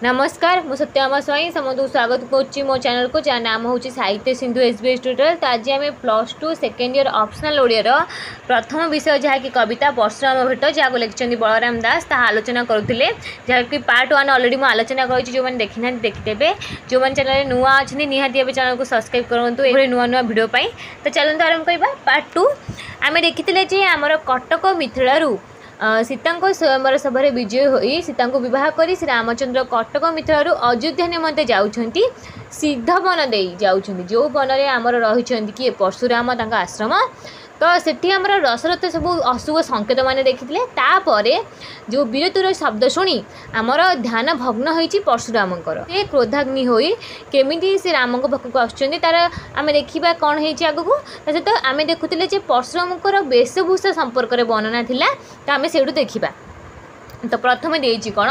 ନମସ୍କାର, ମୁଁ ସତ୍ୟଭାମା ସ୍ୱାଇଁ ସମସ୍ତଙ୍କୁ ସ୍ୱାଗତ କରୁଛି ମୋ ଚ୍ୟାନେଲକୁ, ଯାହା ନାମ ହେଉଛି ସାହିତ୍ୟ Sindhu S B S tutorial. ତ ଆଜି ଆମେ +2 ସେକେଣ୍ଡ ଇୟର୍ ଅପସନାଲ୍ ଓଡ଼ିଆର ପ୍ରଥମ ବିଷୟ, ଯାହାକି କବିତା ପରଶୁରାମ ଭେଟ, ଯାହାକୁ ଲେଖିଛନ୍ତି ବଳରାମ ଦାସ, ତାହା ଆଲୋଚନା କରୁଥିଲେ। ଯାହାକି ପାର୍ଟ 1 ଅଲରେଡ଼ି ମୁଁ ଆଲୋଚନା କରିଛି। ଯେଉଁମାନେ ଦେଖିନାହାନ୍ତି ଦେଖିଦେବେ। ଯେଉଁମାନେ ଚ୍ୟାନେଲରେ ନୂଆ ଅଛନ୍ତି, ନିହାତି ଏବେ ଚ୍ୟାନେଲକୁ ସବସ୍କ୍ରାଇବ୍ କରନ୍ତୁ ଏଭଳି ନୂଆ ନୂଆ ଭିଡ଼ିଓ ପାଇଁ। ତ ଚାଲନ୍ତୁ ଆରମ୍ଭ କରିବା ପାର୍ଟ 2। ଆମେ ଦେଖିଥିଲେ ଯେ ଆମର କଟକ ମିଥିଳାରୁ ସୀତାଙ୍କ ସ୍ୱୟଂବର ସଭାରେ ବିଜୟ ହୋଇ ସୀତାଙ୍କୁ ବିବାହ କରି ଶ୍ରୀ ରାମଚନ୍ଦ୍ର କଟକ ମିଥିଳାରୁ ଅଯୋଧ୍ୟା ନିମନ୍ତେ ଯାଉଛନ୍ତି। ସିଦ୍ଧ ବନ ଦେଇ ଯାଉଛନ୍ତି, ଯେଉଁ ବନରେ ଆମର ରହିଛନ୍ତି କିଏ? ପରଶୁରାମ, ତାଙ୍କ ଆଶ୍ରମ। ତ ସେଠି ଆମର ଦଶରଥ ସବୁ ଅଶୁଭ ସଂକେତ ମାନେ ଦେଖିଥିଲେ। ତାପରେ ଯେଉଁ ବୀରତ୍ୱର ଶବ୍ଦ ଶୁଣି ଆମର ଧ୍ୟାନ ଭଗ୍ନ ହୋଇଛି ପରଶୁରାମଙ୍କର, ସେ କ୍ରୋଧାଗ୍ନି ହୋଇ କେମିତି ସେ ରାମଙ୍କ ପାଖକୁ ଆସୁଛନ୍ତି, ତାର ଆମେ ଦେଖିବା କ'ଣ ହେଇଛି ଆଗକୁ। ତା ସହିତ ଆମେ ଦେଖୁଥିଲେ ଯେ ପରଶୁରାମଙ୍କର ବେଶଭୂଷା ସମ୍ପର୍କରେ ବର୍ଣ୍ଣନା ଥିଲା, ତ ଆମେ ସେଇଠୁ ଦେଖିବା। ତ ପ୍ରଥମେ ଦେଇଛି କ'ଣ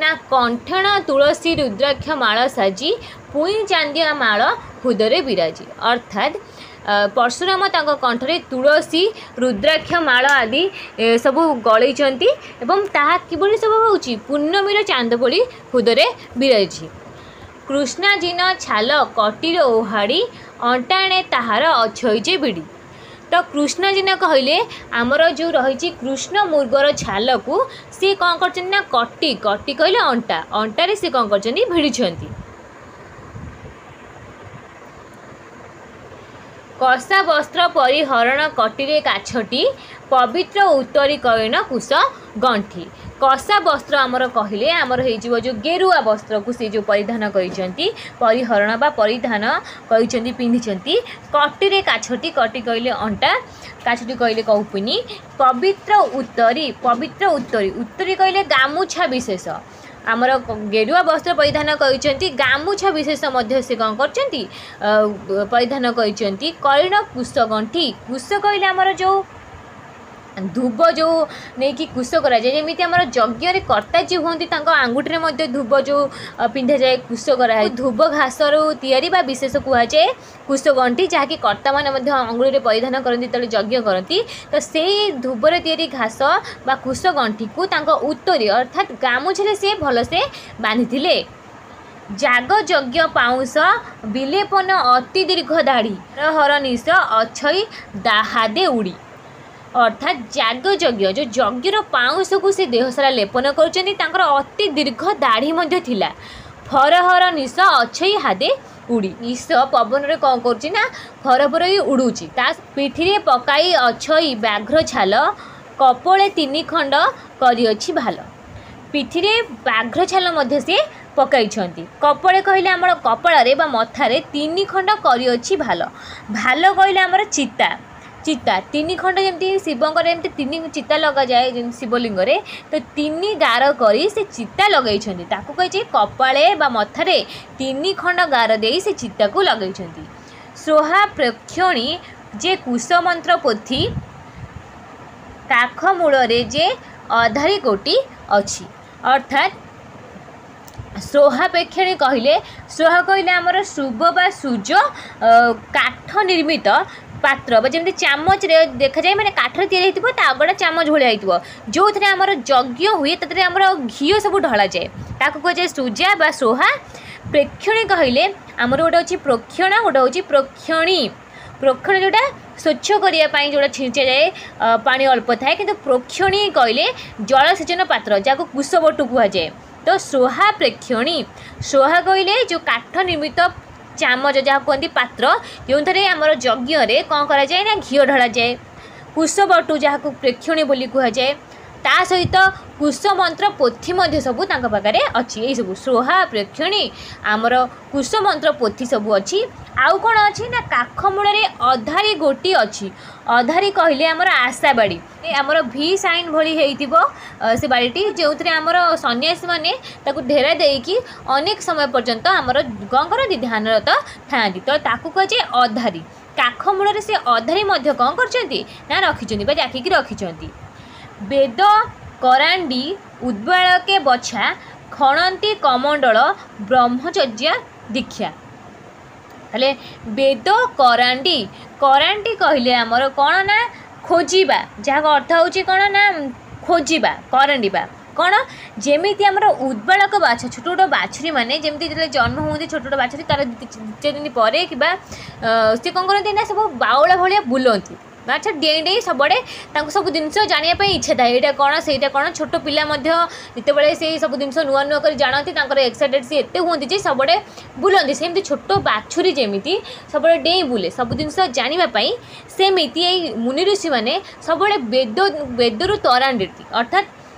ନା, କଣ୍ଠେଣ ତୁଳସୀ ରୁଦ୍ରାକ୍ଷ ମାଳ ସାଜି ପୁଇଁ ଚାନ୍ଦିଆ ମାଳ ହୁଦରେ ବିରାଜି। ଅର୍ଥାତ୍ ପରଶୁରାମ ତାଙ୍କ କଣ୍ଠରେ ତୁଳସୀ, ରୁଦ୍ରାକ୍ଷ ମାଳ ଆଦି ସବୁ ଗଳେଇଛନ୍ତି ଏବଂ ତାହା କିଭଳି ସବୁ ହେଉଛି? ପୂର୍ଣ୍ଣମୀର ଚାନ୍ଦ ଭଳି ହୁଦରେ ବିରାଜିଛି। କୃଷ୍ଣାଜିନ ଛାଲ କଟିର ଓହାଡ଼ି ଅଣ୍ଟାଣେ ତାହାର ଅଛଇ ଯେ ବିଡ଼ି। ତ କୃଷ୍ଣଜିନ କହିଲେ ଆମର ଯେଉଁ ରହିଛି କୃଷ୍ଣ ମୃଗର ଛାଲକୁ ସିଏ କ'ଣ କରିଛନ୍ତି ନା କଟି, କଟି କହିଲେ ଅଣ୍ଟା, ଅଣ୍ଟାରେ ସିଏ କ'ଣ କରିଛନ୍ତି? ଭିଡ଼ିଛନ୍ତି। କଷା ବସ୍ତ୍ର ପରିହରଣ କଟିରେ କାଛଟି ପବିତ୍ର ଉତ୍ତରୀ କୟନ କୁଶ ଗଣ୍ଠି। କଷା ବସ୍ତ୍ର ଆମର କହିଲେ ଆମର ହେଇଯିବ ଯେଉଁ ଗେରୁଆ ବସ୍ତ୍ରକୁ ସେ ଯେଉଁ ପରିଧାନ କରିଛନ୍ତି, ପରିହରଣ ବା ପରିଧାନ କରିଛନ୍ତି, ପିନ୍ଧିଛନ୍ତି। କଟିରେ କାଛଟି, କଟି କହିଲେ ଅଣ୍ଟା, କାଛଟି କହିଲେ କୌପିନୀ। ପବିତ୍ର ଉତ୍ତରୀ, ପବିତ୍ର ଉତ୍ତରୀ, ଉତ୍ତରୀ କହିଲେ ଗାମୁଛା ବିଶେଷ। ଆମର ଗେରୁଆ ବସ୍ତ୍ର ପରିଧାନ କରିଛନ୍ତି, ଗାମୁଛା ବିଶେଷ ମଧ୍ୟ ସେ କ'ଣ କରିଛନ୍ତି? ପରିଧାନ କରିଛନ୍ତି। କରିଣ କୁଶ ଗଣ୍ଠି, କୁଶ କହିଲେ ଆମର ଯେଉଁ ଧୁବ ଯେଉଁ ନେଇକି କୁଶ କରାଯାଏ, ଯେମିତି ଆମର ଯଜ୍ଞରେ କର୍ତ୍ତା ଯିଏ ହୁଅନ୍ତି ତାଙ୍କ ଆଙ୍ଗୁଠିରେ ମଧ୍ୟ ଧୁବ ଯେଉଁ ପିନ୍ଧାଯାଏ, କୁଶ କରାଯାଏ, ଧୁବ ଘାସରୁ ତିଆରି ବା ବିଶେଷ କୁହାଯାଏ କୁଶଗଣ୍ଠି, ଯାହାକି କର୍ତ୍ତାମାନେ ମଧ୍ୟ ଅଙ୍ଗୁଳିରେ ପରିଧାନ କରନ୍ତି ଯେତେବେଳେ ଯଜ୍ଞ କରନ୍ତି। ତ ସେଇ ଧୁବରେ ତିଆରି ଘାସ ବା କୁଶଗଣ୍ଠିକୁ ତାଙ୍କ ଉତ୍ତରୀ ଅର୍ଥାତ୍ ଗାମୁଛାରେ ସିଏ ଭଲସେ ବାନ୍ଧିଥିଲେ। ଯାଗ ଯଜ୍ଞ ପାଉଁଶ ବିଲେପନ ଅତି ଦୀର୍ଘ ଦାଢ଼ି ହର ନିଶ ଅଛଇ ଦାହାଦେ ଉଡ଼ି। ଅର୍ଥାତ୍ ଯାଗ ଯଜ୍ଞ ଯେଉଁ ଯଜ୍ଞର ପାଉଁଶକୁ ସେ ଦେହସାରା ଲେପନ କରୁଛନ୍ତି, ତାଙ୍କର ଅତି ଦୀର୍ଘ ଦାଢ଼ି ମଧ୍ୟ ଥିଲା। ଫରହର ନିଶ ଅଛଇ ହାଦେ ଉଡ଼ି, ନିଶ ପବନରେ କ'ଣ କରୁଛି ନା ଫର ଫର ହେଇ ଉଡ଼ୁଛି। ତା ପିଠିରେ ପକାଇ ଅଛଇ ବ୍ୟାଘ୍ର ଛାଲ କପୋଳେ 3 ଖଣ୍ଡ କରିଅଛି ଭାଲ। ପିଠିରେ ବ୍ୟାଘ୍ର ଛାଲ ମଧ୍ୟ ସିଏ ପକାଇଛନ୍ତି। କପୋଳେ କହିଲେ ଆମର କପାଳରେ ବା ମଥାରେ 3 ଖଣ୍ଡ କରିଅଛି ଭାଲ। ଭାଲ କହିଲେ ଆମର ଚିତା, ଚିତା 3 ଖଣ୍ଡ, ଯେମିତି ଶିବଙ୍କର ଏମିତି 3 ଚିତା ଲଗାଯାଏ ଯେମିତି ଶିବଲିଙ୍ଗରେ, ତ 3 ଗାର କରି ସେ ଚିତା ଲଗାଇଛନ୍ତି। ତାକୁ କହିଛି କପାଳେ ବା ମଥାରେ 3 ଖଣ୍ଡ ଗାର ଦେଇ ସେ ଚିତାକୁ ଲଗାଇଛନ୍ତି। ସୋହା ପ୍ରେକ୍ଷଣୀ ଯେ କୁଶମନ୍ତ୍ର ପୋଥି କାଖ ମୂଳରେ ଯେ ଅଧାରୀ ଗୋଟି ଅଛି। ଅର୍ଥାତ୍ ସୋହା ପ୍ରେକ୍ଷଣୀ କହିଲେ, ସୋହା କହିଲେ ଆମର ଶୁଭ ବା ସୂର୍ଯ୍ୟ କାଠ ନିର୍ମିତ ପାତ୍ର, ବା ଯେମିତି ଚାମଚରେ ଦେଖାଯାଏ, ମାନେ କାଠରେ ତିଆରି ହେଇଥିବ, ତା ଆଗଟା ଚାମଚ ଭଳିଆ ହେଇଥିବ, ଯେଉଁଥିରେ ଆମର ଯଜ୍ଞ ହୁଏ, ତାଥିରେ ଆମର ଘିଅ ସବୁ ଢଳାଯାଏ, ତାକୁ କୁହାଯାଏ ସୁଜା ବା ସୋହା। ପ୍ରେକ୍ଷଣୀ କହିଲେ ଆମର ଗୋଟେ ଅଛି ପ୍ରୋକ୍ଷଣ, ଗୋଟେ ହେଉଛି ପ୍ରୋକ୍ଷଣୀ। ପ୍ରୋକ୍ଷଣ ଯେଉଁଟା ସ୍ୱଚ୍ଛ କରିବା ପାଇଁ ଯେଉଁଟା ଛିଞ୍ଚାଯାଏ, ପାଣି ଅଳ୍ପ ଥାଏ, କିନ୍ତୁ ପ୍ରୋକ୍ଷଣୀ କହିଲେ ଜଳସେଚନ ପାତ୍ର, ଯାହାକୁ କୁଶବଟୁ କୁହାଯାଏ। ତ ସୋହା ପ୍ରେକ୍ଷଣୀ, ସୋହା କହିଲେ ଯେଉଁ କାଠ ନିର୍ମିତ ଚାମଚ ଯାହା କୁହନ୍ତି ପାତ୍ର, ଯେଉଁଥିରେ ଆମର ଯଜ୍ଞରେ କ'ଣ କରାଯାଏ ନା ଘିଅ ଢଳାଯାଏ, କୁଶବଟୁ ଯାହାକୁ ପ୍ରେକ୍ଷଣୀ ବୋଲି କୁହାଯାଏ। ତା ସହିତ କୁଶମନ୍ତ୍ର ପୋଥି ମଧ୍ୟ ସବୁ ତାଙ୍କ ପାଖରେ ଅଛି। ଏଇସବୁ ସୋହା ପ୍ରେକ୍ଷଣୀ, ଆମର କୁଶମନ୍ତ୍ର ପୋଥି ସବୁ ଅଛି। ଆଉ କ'ଣ ଅଛି ନା କାଖ ମୂଳରେ ଅଧାରୀ ଗୋଟି ଅଛି। ଅଧାରୀ କହିଲେ ଆମର ଆଶାବାଡ଼ି, ଆମର ଭି ସାଇନ୍ ଭଳି ହେଇଥିବ ସେ ବାଡ଼ିଟି, ଯେଉଁଥିରେ ଆମର ସନ୍ନ୍ୟାସୀମାନେ ତାକୁ ଢେରା ଦେଇକି ଅନେକ ସମୟ ପର୍ଯ୍ୟନ୍ତ ଆମର କ'ଣ କରନ୍ତି? ଧ୍ୟାନରତ ଥାଆନ୍ତି। ତ ତାକୁ କୁହାଯାଏ ଅଧାରୀ। କାଖ ମୂଳରେ ସେ ଅଧାରୀ ମଧ୍ୟ କ'ଣ କରିଛନ୍ତି ନା ରଖିଛନ୍ତି ବା ଜାକିକି ରଖିଛନ୍ତି। ବେଦ କରାଣ୍ଡି ଉଦ୍ବାଳକେ ବଛା ଖଣନ୍ତି କମଣ୍ଡଳ ବ୍ରହ୍ମଚର୍ଯ୍ୟା ଦୀକ୍ଷା। ତାହେଲେ ବେଦ କରାଣ୍ଡି, କରାଣ୍ଡି କହିଲେ ଆମର କ'ଣ ନା ଖୋଜିବା, ଯାହାର ଅର୍ଥ ହେଉଛି କ'ଣ ନା ଖୋଜିବା, କରାଣ୍ଡିବା। କ'ଣ? ଯେମିତି ଆମର ଉଦ୍ବାଳକ ବାଛ, ଛୋଟ ଛୋଟ ବାଛୁରୀ ମାନେ ଯେମିତି ଯେତେବେଳେ ଜନ୍ମ ହୁଅନ୍ତି ଛୋଟ ଛୋଟ ବାଛୁରୀ, ତାର 2-4 ଦିନ ପରେ କିମ୍ବା ସେ କ'ଣ କରନ୍ତି ନା ସବୁ ବାଉଳା ଭଳିଆ ବୁଲନ୍ତି, ମାଛ ଡେଇଁ ଡେଇଁ ସବୁଆଡ଼େ। ତାଙ୍କୁ ସବୁ ଜିନିଷ ଜାଣିବା ପାଇଁ ଇଚ୍ଛା ଥାଏ, ଏଇଟା କ'ଣ ସେଇଟା କ'ଣ। ଛୋଟ ପିଲା ମଧ୍ୟ ଯେତେବେଳେ ସେଇ ସବୁ ଜିନିଷ ନୂଆ ନୂଆ କରି ଜାଣନ୍ତି, ତାଙ୍କର ଏକ୍ସାଇଟେଡ଼ ସିଏ ଏତେ ହୁଅନ୍ତି ଯେ ସବୁଆଡ଼େ ବୁଲନ୍ତି। ସେମିତି ଛୋଟ ବାଛୁରୀ ଯେମିତି ସବୁବେଳେ ଡେଇଁ ବୁଲେ ସବୁ ଜିନିଷ ଜାଣିବା ପାଇଁ, ସେମିତି ଏଇ ମୁନି ଋଷିମାନେ ସବୁବେଳେ ବେଦରୁ ତରାଣ୍ଡି, ଅର୍ଥାତ୍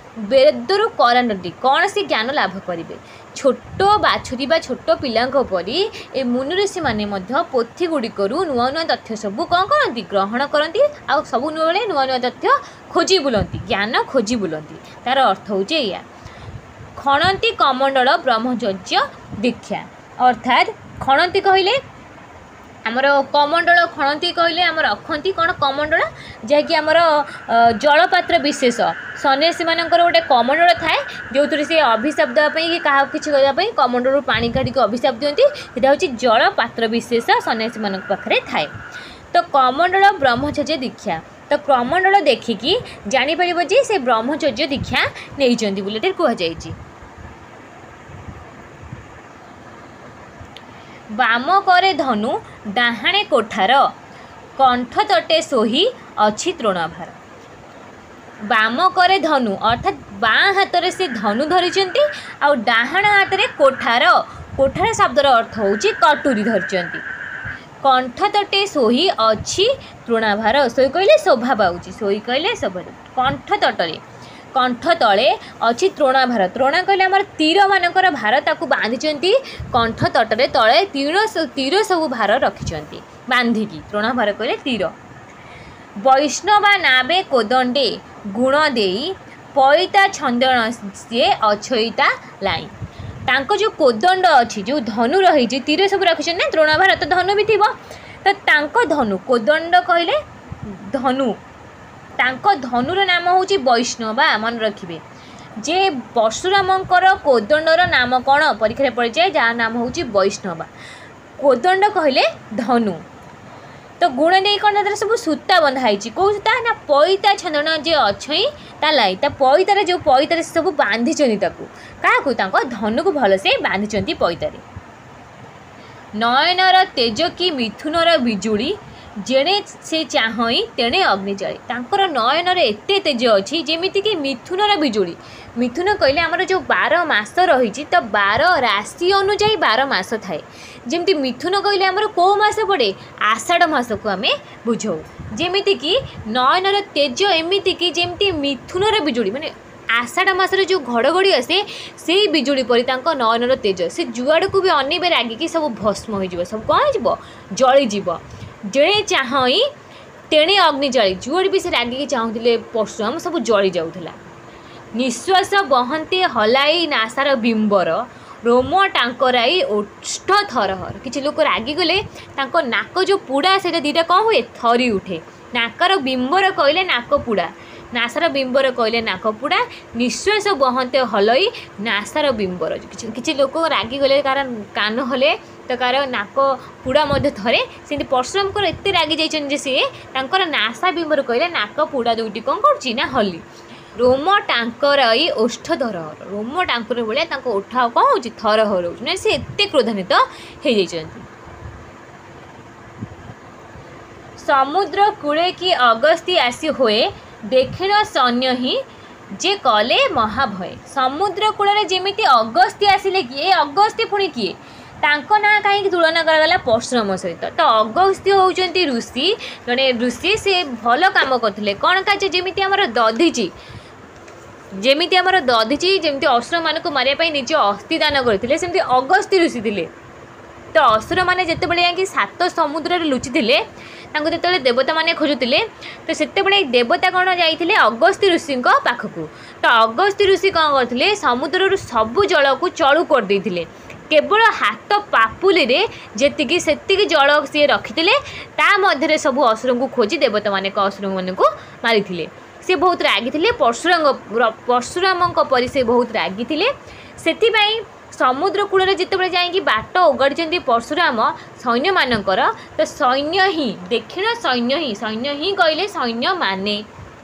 ବେଦରୁ କରାଣ୍ଡି କ'ଣ ସେ ଜ୍ଞାନ ଲାଭ କରିବେ। ଛୋଟ ବାଛୁରୀ ବା ଛୋଟ ପିଲାଙ୍କ ପରି ଏ ମୁନି ଋଷିମାନେ ମଧ୍ୟ ପୋଥି ଗୁଡ଼ିକରୁ ନୂଆ ନୂଆ ତଥ୍ୟ ସବୁ କ'ଣ କରନ୍ତି, ଗ୍ରହଣ କରନ୍ତି। ଆଉ ସବୁବେଳେ ନୂଆ ନୂଆ ତଥ୍ୟ ଖୋଜି ବୁଲନ୍ତି, ଜ୍ଞାନ ଖୋଜି ବୁଲନ୍ତି। ତାର ଅର୍ଥ ହେଉଛି ଏଇଆ। ଖଣନ୍ତି କମଣ୍ଡଳ ବ୍ରହ୍ମଚର୍ଯ୍ୟ ଦୀକ୍ଷା, ଅର୍ଥାତ୍ ଖଣନ୍ତି କହିଲେ ଆମର କମଣ୍ଡଳ, ଖଣନ୍ତି କହିଲେ ଆମର ରଖନ୍ତି କ'ଣ କମଣ୍ଡଳ, ଯାହାକି ଆମର ଜଳପାତ୍ର ବିଶେଷ। ସନ୍ନ୍ୟାସୀମାନଙ୍କର ଗୋଟେ କମଣ୍ଡଳ ଥାଏ, ଯେଉଁଥିରେ ସେ ଅଭିଶାପ ଦେବା ପାଇଁ କି କାହାକୁ କିଛି କରିବା ପାଇଁ କମଣ୍ଡଳରୁ ପାଣି କାଢ଼ିକି ଅଭିଶାପ ଦିଅନ୍ତି। ସେଇଟା ହେଉଛି ଜଳପାତ୍ର ବିଶେଷ ସନ୍ନ୍ୟାସୀମାନଙ୍କ ପାଖରେ ଥାଏ। ତ କମଣ୍ଡଳ ବ୍ରହ୍ମଚର୍ଯ୍ୟ ଦୀକ୍ଷା, ତ କମଣ୍ଡଳ ଦେଖିକି ଜାଣିପାରିବ ଯେ ସେ ବ୍ରହ୍ମଚର୍ଯ୍ୟ ଦୀକ୍ଷା ନେଇଛନ୍ତି ବୋଲି ଏଠି କୁହାଯାଇଛି। ବାମ କରେ ଧନୁ ଡାହାଣେ କୋଠାର, କଣ୍ଠ ତଟେ ଶୋହି ଅଛି ତୃଣଭାର। ବାମ କରେ ଧନୁ, ଅର୍ଥାତ୍ ବାଁ ହାତରେ ସେ ଧନୁ ଧରିଛନ୍ତି, ଆଉ ଡାହାଣ ହାତରେ କୋଠାର, କୋଠାର ଶବ୍ଦର ଅର୍ଥ ହେଉଛି କଟୁରୀ ଧରିଛନ୍ତି। କଣ୍ଠ ତଟେ ଶୋହି ଅଛି ତୃଣାଭାର, ଶୋଇ କହିଲେ ଶୋଭା ପାଉଛି, ଶୋଇ କହିଲେ ଶୋଭା। କଣ୍ଠ ତଟରେ, କଣ୍ଠ ତଳେ ଅଛି ତୃଣାଭାର। ତୃଣା କହିଲେ ଆମର ତୀରମାନଙ୍କର ଭାର, ତାକୁ ବାନ୍ଧିଛନ୍ତି କଣ୍ଠ ତଟରେ, ତଳେ ତୀର ସବୁ ଭାର ରଖିଛନ୍ତି ବାନ୍ଧିକି। ତୃଣାଭାର କହିଲେ ତୀର। ବୈଷ୍ଣବା ନାବେ କୋଦଣ୍ଡେ ଗୁଣ ଦେଇ, ପଇତା ଛନ୍ଦଣ ସିଏ ଅଛଇତା ଲାଇ। ତାଙ୍କ ଯେଉଁ କୋଦଣ୍ଡ ଅଛି, ଯେଉଁ ଧନୁ ରହିଛି, ତୀର ସବୁ ରଖିଛନ୍ତି ନା, ତୃଣାଭାର ତ ଧନୁ ବି ଥିବ, ତ ତାଙ୍କ ଧନୁ, କୋଦଣ୍ଡ କହିଲେ ଧନୁ, ତାଙ୍କ ଧନୁର ନାମ ହେଉଛି ବୈଷ୍ଣବା। ମନେ ରଖିବେ ଯେ ପରଶୁରାମଙ୍କର କୋଦଣ୍ଡର ନାମ କ'ଣ ପରୀକ୍ଷାରେ ପଡ଼ିଯାଏ, ଯାହା ନାମ ହେଉଛି ବୈଷ୍ଣବା। କୋଦଣ୍ଡ କହିଲେ ଧନୁ। ତ ଗୁଣ ଦେଇ କ'ଣ ତାଦେହରେ ସବୁ ସୂତା ବନ୍ଧା ହେଇଛି। କେଉଁ ସୂତା ନା ପଇତା ଛନ୍ଦଣ ଯେ ଅଛଇଁ ତା ଲାଇ। ତା ପଇତାରେ ଯେଉଁ ପଇତାରେ ସେ ସବୁ ବାନ୍ଧିଛନ୍ତି ତାକୁ, କାହାକୁ, ତାଙ୍କ ଧନୁକୁ ଭଲସେ ବାନ୍ଧିଛନ୍ତି ପଇତାରେ। ନୟନର ତେଜ କି ମିଥୁନର ବିଜୁଳି, ଯେଣେ ସେ ଚାହଁଇ ତେଣେ ଅଗ୍ନି ଜଳେ। ତାଙ୍କର ନୟନରେ ଏତେ ତେଜ ଅଛି ଯେମିତିକି ମିଥୁନର ବିଜୁଳି। ମିଥୁନ କହିଲେ ଆମର ଯେଉଁ 12 ମାସ ରହିଛି, ତ 12 ରାଶି ଅନୁଯାୟୀ 12 ମାସ ଥାଏ। ଯେମିତି ମିଥୁନ କହିଲେ ଆମର କେଉଁ ମାସ ପଡ଼େ, ଆଷାଢ଼ ମାସକୁ ଆମେ ବୁଝାଉ। ଯେମିତିକି ନୟନର ତେଜ ଏମିତିକି ଯେମିତି ମିଥୁନର ବିଜୁଳି, ମାନେ ଆଷାଢ଼ ମାସରେ ଯେଉଁ ଘଡ଼ଘଡ଼ି ଆସେ ସେଇ ବିଜୁଳି ପରି ତାଙ୍କ ନୟନର ତେଜ। ସେ ଯୁଆଡ଼କୁ ବି ଅନେଇବେ ରାଗିକି ସବୁ ଭସ୍ମ ହୋଇଯିବ, ସବୁ କ'ଣ ହେଇଯିବ, ଜଳିଯିବ। ଯେଣେ ଚାହଁଇ ତେଣେ ଅଗ୍ନି ଜଳି, ଯୁଆଡ଼େ ବି ସେ ରାଗିକି ଚାହୁଁଥିଲେ ପରଶୁରାମ ସବୁ ଜଳି ଯାଉଥିଲା। ନିଶ୍ୱାସ ବହନ୍ତେ ହଲାଇ ନାସାର ବିମ୍ବର, ରୋମ ଟାଙ୍କରାଇ ଓଷ୍ଠ ଥରହର। କିଛି ଲୋକ ରାଗିଗଲେ ତାଙ୍କ ନାକ ଯେଉଁ ପୁଡ଼ା ସେଇଟା ଦୁଇଟା କ'ଣ ହୁଏ, ଥରି ଉଠେ। ନାକର ବିମ୍ବର କହିଲେ ନାକ ପୁଡ଼ା, ନାସାର ବିମ୍ବର କହିଲେ ନାକ ପୁଡ଼ା। ନିଶ୍ୱାସ ବହନ୍ତେ ହଲଇ ନାସାର ବିମ୍ବର। କିଛି ଲୋକ ରାଗିଗଲେ କାହାର କାନ ହଲେ ତ କାହାର ନାକ ପୁଡ଼ା ମଧ୍ୟ ଥରେ। ସେମିତି ପରଶୁରାମଙ୍କର ଏତେ ରାଗି ଯାଇଛନ୍ତି ଯେ ସିଏ ତାଙ୍କର ନାସା ବିମ୍ବର କହିଲେ ନାକ ପୁଡ଼ା ଦୁଇଟି କ'ଣ କରୁଛି ନା ହଲି। ରୋମ ଟାଙ୍କରାଇ ଓଷ୍ଠ ଧରହର, ରୋମ ଟାଙ୍କର ଭଳିଆ ତାଙ୍କ ଓଠ ଆଉ କ'ଣ ହେଉଛି, ଥରହର ହେଉଛି, ମାନେ ସେ ଏତେ କ୍ରୋଧାନ୍ୱିତ ହେଇଯାଇଛନ୍ତି। ସମୁଦ୍ର କୂଳେ କି ଅଗସ୍ତି ଆସି ହୁଏ, ଦେଖିଣ ସୈନ୍ୟ ହିଁ ଯେ କଲେ ମହାଭୟ। ସମୁଦ୍ର କୂଳରେ ଯେମିତି ଅଗସ୍ତି ଆସିଲେ, କିଏ ଅଗସ୍ତି ପୁଣି କିଏ, ତାଙ୍କ ନାଁ କାହିଁକି ତୁଳନା କରାଗଲା ପରଶୁରାମ ସହିତ? ତ ଅଗସ୍ତ୍ୟ ହେଉଛନ୍ତି ଋଷି, ଜଣେ ଋଷି, ସେ ଭଲ କାମ କରୁଥିଲେ। କ'ଣ କାର୍ଯ୍ୟ? ଯେମିତି ଆମର ଦଧିଚି, ଯେମିତି ଆମର ଦଧିଚି ଯେମିତି ଅସୁରମାନଙ୍କୁ ମାରିବା ପାଇଁ ନିଜ ଅସ୍ଥି ଦାନ କରିଥିଲେ, ସେମିତି ଅଗସ୍ତି ଋଷି ଥିଲେ। ତ ଅସୁରମାନେ ଯେତେବେଳେ ଯାଇକି 7 ସମୁଦ୍ରରେ ଲୁଚିଥିଲେ, ତାଙ୍କୁ ଯେତେବେଳେ ଦେବତାମାନେ ଖୋଜୁଥିଲେ, ତ ସେତେବେଳେ ଦେବତା କ'ଣ ଯାଇଥିଲେ ଅଗସ୍ତି ଋଷିଙ୍କ ପାଖକୁ। ତ ଅଗସ୍ତି ଋଷି କ'ଣ କରିଥିଲେ, ସମୁଦ୍ରରୁ ସବୁ ଜଳକୁ ଚଳୁ କରିଦେଇଥିଲେ। କେବଳ ହାତ ପାପୁଲିରେ ଯେତିକି ସେତିକି ଜଳ ସିଏ ରଖିଥିଲେ, ତା ମଧ୍ୟରେ ସବୁ ଅସୁରଙ୍କୁ ଖୋଜି ଦେବତାମାନେ ଅସୁରମାନଙ୍କୁ ମାରିଥିଲେ। ସେ ବହୁତ ରାଗିଥିଲେ, ପରଶୁରାମଙ୍କ ପରି ସେ ବହୁତ ରାଗିଥିଲେ। ସେଥିପାଇଁ ସମୁଦ୍ର କୂଳରେ ଯେତେବେଳେ ଯାଇକି ବାଟ ଓଗାଡ଼ିଛନ୍ତି ପରଶୁରାମ ସୈନ୍ୟମାନଙ୍କର, ତ ସୈନ୍ୟ ହିଁ ଦେଖିଣ ସୈନ୍ୟ ହିଁ, ସୈନ୍ୟ ହିଁ କହିଲେ ସୈନ୍ୟମାନେ,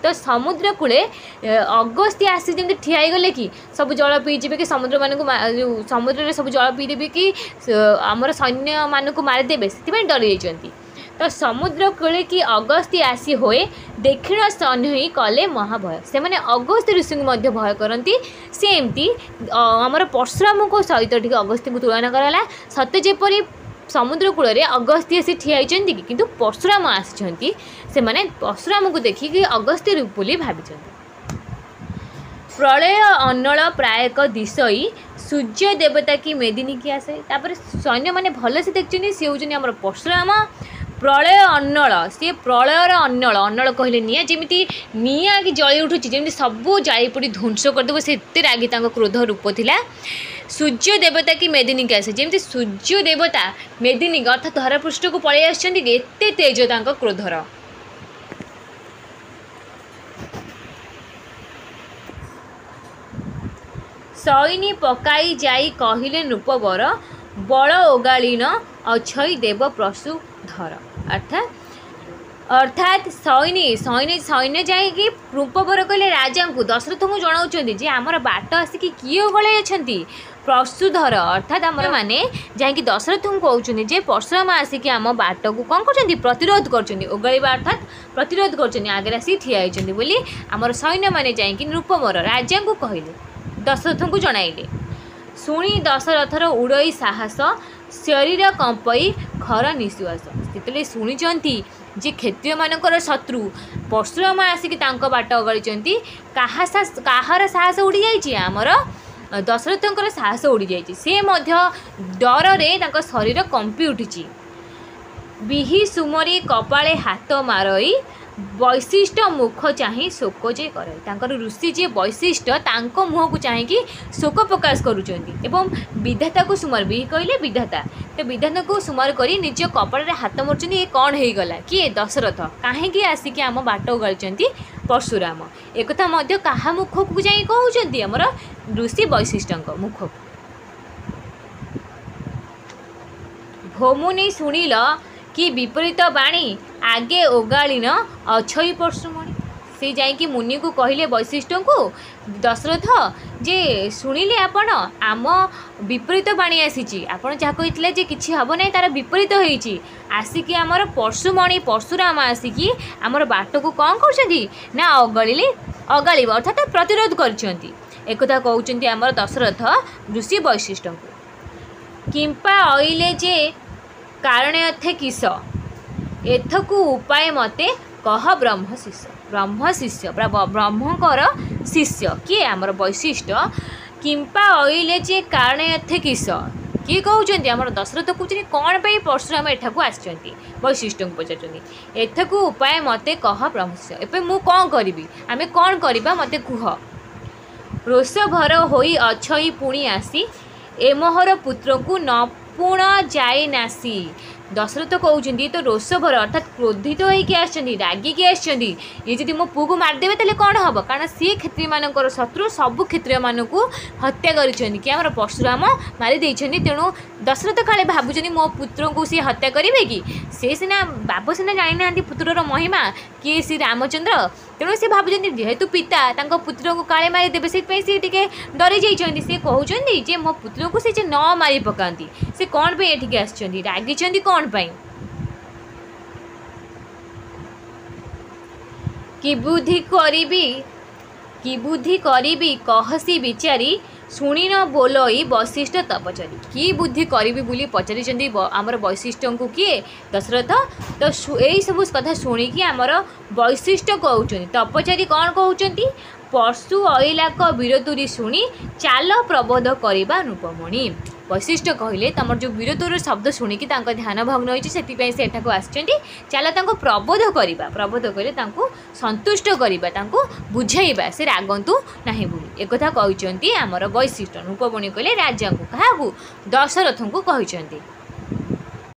ତ ତ ସମୁଦ୍ର କୂଳେ ଅଗସ୍ତି ଆସି ଯେମିତି ଠିଆ ହେଇଗଲେ କି ସବୁ ଜଳ ପିଇଯିବେ କି ସମୁଦ୍ରମାନଙ୍କୁ, ଯେଉଁ ସମୁଦ୍ରରେ ସବୁ ଜଳ ପିଇଦେବେ କି ଆମର ସୈନ୍ୟମାନଙ୍କୁ ମାରିଦେବେ, ସେଥିପାଇଁ ଡରି ଯାଇଛନ୍ତି। ତ ସମୁଦ୍ର କୂଳେ କି ଅଗସ୍ତି ଆସି ହୋଏ, ଦକ୍ଷିଣ ସୈନ୍ୟ କଲେ ମହାଭୟ। ସେମାନେ ଅଗସ୍ତ୍ୟ ଋଷିଙ୍କୁ ମଧ୍ୟ ଭୟ କରନ୍ତି। ସେମିତି ଆମର ପରଶୁରାମଙ୍କ ସହିତ ଟିକେ ଅଗସ୍ତିଙ୍କୁ ତୁଳନା କରାଗଲା। ସତେ ଯେପରି ସମୁଦ୍ର କୂଳରେ ଅଗସ୍ତି ଆସି ଠିଆ ହେଇଛନ୍ତି କି, କିନ୍ତୁ ପରଶୁରାମ ଆସିଛନ୍ତି। ସେମାନେ ପରଶୁରାମଙ୍କୁ ଦେଖିକି ଅଗସ୍ତ୍ୟ ବୋଲି ଭାବିଛନ୍ତି। ପ୍ରଳୟ ଅନଳ ପ୍ରାୟକ ଦିଶଇ, ସୂର୍ଯ୍ୟ ଦେବତା କି ମେଦିନୀ କି ଆସେ। ତାପରେ ସୈନ୍ୟମାନେ ଭଲସେ ଦେଖିଛନ୍ତି ସିଏ ହେଉଛନ୍ତି ଆମର ପରଶୁରାମ। ପ୍ରଳୟ ଅନଳ, ସିଏ ପ୍ରଳୟର ଅନଳ। ଅନଳ କହିଲେ ନିଆଁ, ଯେମିତି ନିଆଁ କି ଜଳି ଉଠୁଛି, ଯେମିତି ସବୁ ଜାଳି ପୋଡ଼ି ଧ୍ୱଂସ କରିଦେବ, ସେ ଏତେ ରାଗି ତାଙ୍କ କ୍ରୋଧ ରୂପ ଥିଲା। ସୂର୍ଯ୍ୟ ଦେବତା କି ମେଦିନୀକି ଆସେ, ଯେମିତି ସୂର୍ଯ୍ୟ ଦେବତା ମେଦିନୀ ଅର୍ଥାତ୍ ଧରାପୃଷ୍ଠକୁ ପଳେଇ ଆସିଛନ୍ତି, ଏତେ ତେଜ ତାଙ୍କ କ୍ରୋଧର। ସୈନି ପକାଇ ଯାଇ କହିଲେ ନୃପବର, ବଳ ଓଗାଳିନ ଅଛଇ ଦେବ ପ୍ରସୁଧର। ଅର୍ଥାତ୍ ସୈନି ସୈନ୍ୟ ସୈନ୍ୟ ଯାଇକି ନୃପବର କହିଲେ ରାଜାଙ୍କୁ, ଦଶରଥଙ୍କୁ ଜଣାଉଛନ୍ତି ଯେ ଆମର ବାଟ ଆସିକି କିଏ ଓଗଳାଇ ଅଛନ୍ତି? ପରଶୁଧର। ଅର୍ଥାତ୍ ଆମର ମାନେ ଯାଇକି ଦଶରଥଙ୍କୁ କହୁଛନ୍ତି ଯେ ପରଶୁରାମ ଆସିକି ଆମ ବାଟକୁ କ'ଣ କରୁଛନ୍ତି? ପ୍ରତିରୋଧ କରୁଛନ୍ତି। ଓଗାଳିବା ଅର୍ଥାତ୍ ପ୍ରତିରୋଧ କରୁଛନ୍ତି, ଆଗରେ ଆସିକି ଠିଆ ହେଇଛନ୍ତି ବୋଲି ଆମର ସୈନ୍ୟମାନେ ଯାଇକି ନୃପବର ରାଜାଙ୍କୁ କହିଲେ, ଦଶରଥଙ୍କୁ ଜଣାଇଲେ। ଶୁଣି ଦଶରଥର ଉଡ଼ଇ ସାହସ, ଶରୀର କମ୍ପଇ ଖର ନିଶ୍ୱାସ। ଯେତେବେଳେ ଶୁଣିଛନ୍ତି ଯେ କ୍ଷତ୍ରିୟମାନଙ୍କର ଶତ୍ରୁ ପରଶୁରାମ ଆସିକି ତାଙ୍କ ବାଟ ଅଗଳିଛନ୍ତି, କାହାର ସାହସ ଉଡ଼ିଯାଇଛି? ଆମର ଦଶରଥଙ୍କର ସାହସ ଉଡ଼ିଯାଇଛି। ସେ ମଧ୍ୟ ଡରରେ ତାଙ୍କ ଶରୀର କମ୍ପି ଉଠିଛି। ବିହି ସୁମରି କପାଳେ ହାତ ମାରଇ, ବୈଶିଷ୍ଟ୍ୟ ମୁଖ ଚାହିଁ ଶୋକ ଯେ କରଇ। ତାଙ୍କର ଋଷି ଯିଏ ବୈଶିଷ୍ଟ୍ୟ, ତାଙ୍କ ମୁହଁକୁ ଚାହିଁକି ଶୋକ ପ୍ରକାଶ କରୁଛନ୍ତି ଏବଂ ବିଧାତାକୁ ସୁମାର, ବିହି କହିଲେ ବିଧାତା, ତ ବିଧାତାକୁ ସୁମାର କରି ନିଜ କପାଳରେ ହାତ ମାରୁଛନ୍ତି। ଏ କ'ଣ ହେଇଗଲା? କିଏ? ଦଶରଥ। କାହିଁକି ଆସିକି ଆମ ବାଟ ଓଗାଳିଛନ୍ତି ପରଶୁରାମ? ଏକଥା ମଧ୍ୟ କାହା ମୁଖକୁ ଯାଇ କହୁଛନ୍ତି? ଆମର ଋଷି ବୈଶିଷ୍ଟ୍ୟଙ୍କ ମୁଖକୁ। ଭୋମୁନି ଶୁଣିଲ କି ବିପରୀତ ବାଣୀ, ଆଗେ ଓଗାଳିନ ଅଛଇ ପରଶୁମଣି। ସେ ଯାଇକି ମୁନିକୁ କହିଲେ ବୈଶିଷ୍ଟ୍ୟଙ୍କୁ ଦଶରଥ ଯେ ଶୁଣିଲେ ଆପଣ, ଆମ ବିପରୀତ ବାଣୀ ଆସିଛି। ଆପଣ ଯାହା କହିଥିଲେ ଯେ କିଛି ହେବ ନାହିଁ, ତା'ର ବିପରୀତ ହେଇଛି। ଆସିକି ଆମର ପରଶୁମଣି ପରଶୁରାମ ଆସିକି ଆମର ବାଟକୁ କ'ଣ କରୁଛନ୍ତି ନା ଅଗଳିଲେ, ଅଗାଳିବ ଅର୍ଥାତ୍ ପ୍ରତିରୋଧ କରିଛନ୍ତି। ଏକଥା କହୁଛନ୍ତି ଆମର ଦଶରଥ ଋଷି ବୈଶିଷ୍ଟ୍ୟଙ୍କୁ। କିମ୍ପା ଅଇଲେ ଯେ କାରଣେ ଅର୍ଥେ କିସ, ଏଥକୁ ଉପାୟ ମତେ କହ ବ୍ରହ୍ମ ଶିଷ୍ୟ। ବ୍ରହ୍ମ ଶିଷ୍ୟ, ବ୍ରହ୍ମଙ୍କର ଶିଷ୍ୟ କିଏ? ଆମର ବୈଶିଷ୍ଟ୍ୟ। କିମ୍ପା ଅଇଲେ ଯେ କାରଣେ ଅର୍ଥେ କିସ, କିଏ କହୁଛନ୍ତି? ଆମର ଦଶରଥ କହୁଛନ୍ତି କ'ଣ ପାଇଁ ପରଶୁରାମ ଏଠାକୁ ଆସିଛନ୍ତି, ବୈଶିଷ୍ଟ୍ୟଙ୍କୁ ପଚାରୁଛନ୍ତି। ଏଥକୁ ଉପାୟ ମତେ କହ ବ୍ରହ୍ମ ଶିଷ୍ୟ। ଏବେ ମୁଁ କ'ଣ କରିବି, ଆମେ କ'ଣ କରିବା ମୋତେ କୁହ। ରୋଷଭର ହୋଇ ଅଛଇ ପୁଣି ଆସି, ଏ ମୋହର ପୁତ୍ରକୁ ନ ପୁଣ ଯାଇ ନାସି। ଦଶରଥ କହୁଛନ୍ତି ତ ରୋଷଭର ଅର୍ଥାତ୍ କ୍ରୋଧିତ ହେଇକି ଆସିଛନ୍ତି, ରାଗିକି ଆସିଛନ୍ତି। ଇଏ ଯଦି ମୋ ପୁଅକୁ ମାରିଦେବେ ତାହେଲେ କ'ଣ ହେବ? କାରଣ ସିଏ କ୍ଷତ୍ରିୟମାନଙ୍କର ଶତ୍ରୁ, ସବୁ କ୍ଷତ୍ରିୟମାନଙ୍କୁ ହତ୍ୟା କରିଛନ୍ତି କି ଆମର ପରଶୁରାମ ମାରି ଦେଇଛନ୍ତି। ତେଣୁ ଦଶରଥ କାଳେ ଭାବୁଛନ୍ତି ମୋ ପୁତ୍ରଙ୍କୁ ସିଏ ହତ୍ୟା କରିବେ କି? ସେ ସିନା ବାପ ସିନା ଜାଣିନାହାନ୍ତି ପୁତ୍ରର ମହିମା କିଏ ଶ୍ରୀ ରାମଚନ୍ଦ୍ର। ତେଣୁ ସେ ଭାବୁଛନ୍ତି ଯେହେତୁ ପିତା ତାଙ୍କ ପୁତ୍ରଙ୍କୁ କାଳେ ମାରିଦେବେ, ସେଥିପାଇଁ ସିଏ ଟିକେ ଡରି ଯାଇଛନ୍ତି। ସେ କହୁଛନ୍ତି ଯେ ମୋ ପୁତ୍ରକୁ ସେ ଯେ ନ ମାରି ପକାନ୍ତି, ସେ କ'ଣ ପାଇଁ ଏଠିକି ଆସିଛନ୍ତି, ରାଗିଛନ୍ତି କ'ଣ ପାଇଁ? କି ବୁଦ୍ଧି କରିବି, କି ବୁଦ୍ଧି କରିବି କହସି ବିଚାରି, ଶୁଣିନ ବୋଲଇ ବୈଶିଷ୍ଟ୍ୟ ତପଚାରି। କି ବୁଦ୍ଧି କରିବି ବୋଲି ପଚାରିଛନ୍ତି ଆମର ବୈଶିଷ୍ଟ୍ୟଙ୍କୁ କିଏ? ଦଶରଥ। ତ ଏଇସବୁ କଥା ଶୁଣିକି ଆମର ବୈଶିଷ୍ଟ୍ୟ କହୁଛନ୍ତି, ତପଚାରି କ'ଣ କହୁଛନ୍ତି? ପଶୁ ଅଇଲାକ ବୀରତୁରୀ ଶୁଣି, ଚାଲ ପ୍ରବୋଧ କରିବା ନୃପମଣି। ବୈଶିଷ୍ଟ୍ୟ କହିଲେ ତମର ଯେଉଁ ବୀରତ୍ୱର ଶବ୍ଦ ଶୁଣିକି ତାଙ୍କ ଧ୍ୟାନ ଭଗ୍ନ ହୋଇଛି, ସେଥିପାଇଁ ସେ ଏଠାକୁ ଆସିଛନ୍ତି। ଚାଲ ତାଙ୍କୁ ପ୍ରବୋଧ କରିବା। ପ୍ରବୋଧ କହିଲେ ତାଙ୍କୁ ସନ୍ତୁଷ୍ଟ କରିବା, ତାଙ୍କୁ ବୁଝେଇବା ସେ ରାଗନ୍ତୁ ନାହିଁ ବୋଲି। ଏକଥା କହିଛନ୍ତି ଆମର ବୈଶିଷ୍ଟ୍ୟ। ନୃପମଣି କହିଲେ ରାଜାଙ୍କୁ, କାହାକୁ? ଦଶରଥଙ୍କୁ କହିଛନ୍ତି।